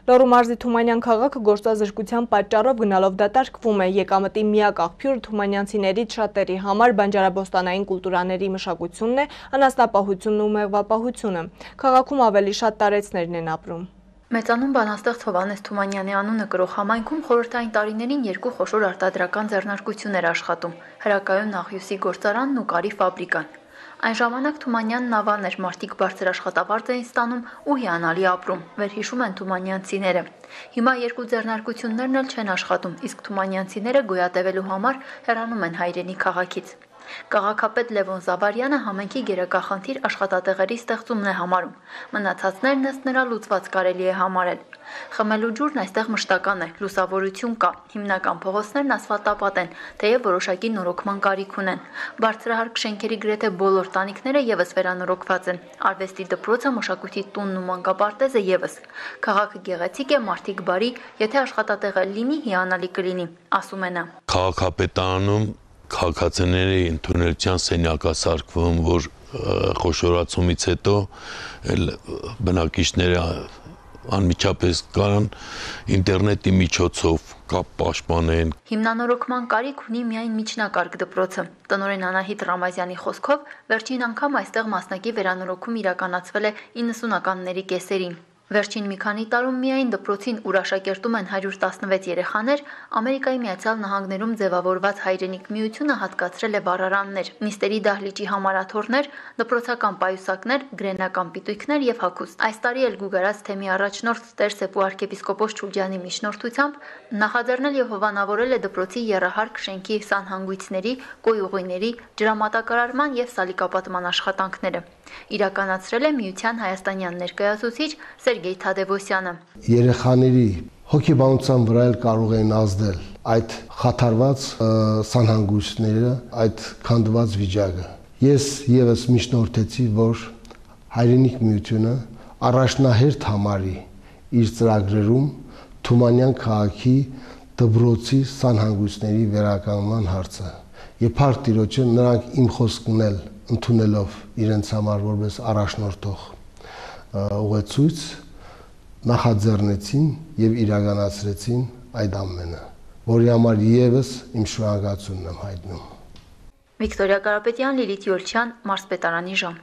Լոռու մարզի Թումանյան քաղաքը գործազրկության պատճառով գնալով դատարկվում է։ Եկամտի միակ աղբյուրը թումանյանցիներից շատերի համար բանջարաբոստանային կուլտուրաների մշակությունն է, անասնապահությունն ու մեղվապահությունը։ Քաղաքում ավելի շատ տարեցներն են ապրում։ Մեծանուն բանաստեղծ Հովհաննես Թումանյանի անունը կրող համայնքում խորհրդային տարիներին երկու խոշոր արտադրական ձեռնարկություններ աշխատում՝ հրակայուն աղյուսի գործարանն ու կարի ֆաբրիկան։ Այն ժամանակ Թումանյանն ավան էր, մարդիկ բարձր աշխատավարձ էին ստանում ու հիանալի ապրում, վերհիշում են թումանյանցիները։ Հիմա երկու ձեռնարկություններն էլ չեն աշխատում, իսկ թումանյանցիները գոյատևելու համար հեռանում են հայրենի քաղաքից։ Քաղաքապետ Լևոն Զավարյանը համայնքի գերակախնդիր աշխատատեղերի ստեղծումն է համարում։ Մնացածներն ըստ նրա լուծված կարելի է համարել։ Խմելու ջուրն այստեղ մշտական է, լուսավորություն կա, հիմնական փողոցներն ասֆալտապատ են, թեև որոշակի նորոգման կարիք ունեն։ Բարձրահարկ շենքերի գրեթե բոլոր տանիքները եւս վերանորոգված են։ Արվեստի դպրոցը, մշակույթի տունն ու մանկապարտեզը եւս։ Քաղաքը գեղեցիկ է, մարդիկ բարի, եթե աշխատատեղը լինի, հիանալի կլինի, ասում է նա։ Քաղաքապետարանում քաղաքացիների ընդունելության սենյակ է սարքվում, որ խոշորացումից հետո բնակիչները անմիջապես կարան ինտերնետի միջոցով կապ պաշտպանեն։ Հիմնանորոգման կարիք ունի միայն միջնակարգ դպրոցը։ Տնօրեն Անահիտ Ռամազյանի խոսքով վերջին անգամ այստեղ մասնակի վերանորոգում իրականացվել է 90-ականների կեսերին։ Վերջին մի քանի տարում միայն դպրոցին, ուր աշակերտում են 116 երեխաներ, Ամերիկայի Միացյալ Նահանգներում ձևավորված Հայրենիք միությունը հատկացրել է վառարաններ, նիստերի դահլիճի համարաթոռներ, դպրոցական պայուսակներ, գրենական պիտույքներ եւ հագուստ։ Այս տարի էլ Գուգարած թեմի առաջնորդ Տեր Սեփու arczepiskopos Չուլյանի միջնորդությամբ նախաձեռնել եւ հովանավորել է դպրոցի եռահարկ շենքի սանհանգույցների, կոյուղիների, ջրամատակարարման եւ սալիկապատման աշխատանքները։ Իրականացրել է միության հայաստանյան ներկայացուցիչ Սերգեյ Թադևոսյանը։ Երեխաների հոգեբանության վրա էլ կարող են ազդել այդ խաթարված սանհանգույցները, այդ քանդված վիճակը։ Ես եւս միջնորդեցի, որ Հայրենիք միությունը առաջնահերթ համարի իր ծրագրերում Թումանյան քաղաքի դպրոցի սանհանգույցների վերականգնման հարցը։ Եվ փառք Տիրոջը նրանք իմ խոսքն էլ ընդունելով իրենց համար որպես առաջնորդող ուղեցույց նախաձեռնեցին եւ իրականացրեցին այդ ամենը, որի համար եւս իմ շնորհակալությունն եմ հայտնում։ Վիկտորիա Կարապետյան, Լիլիթ Յոլչյան, Մարզպետարանի ժամ։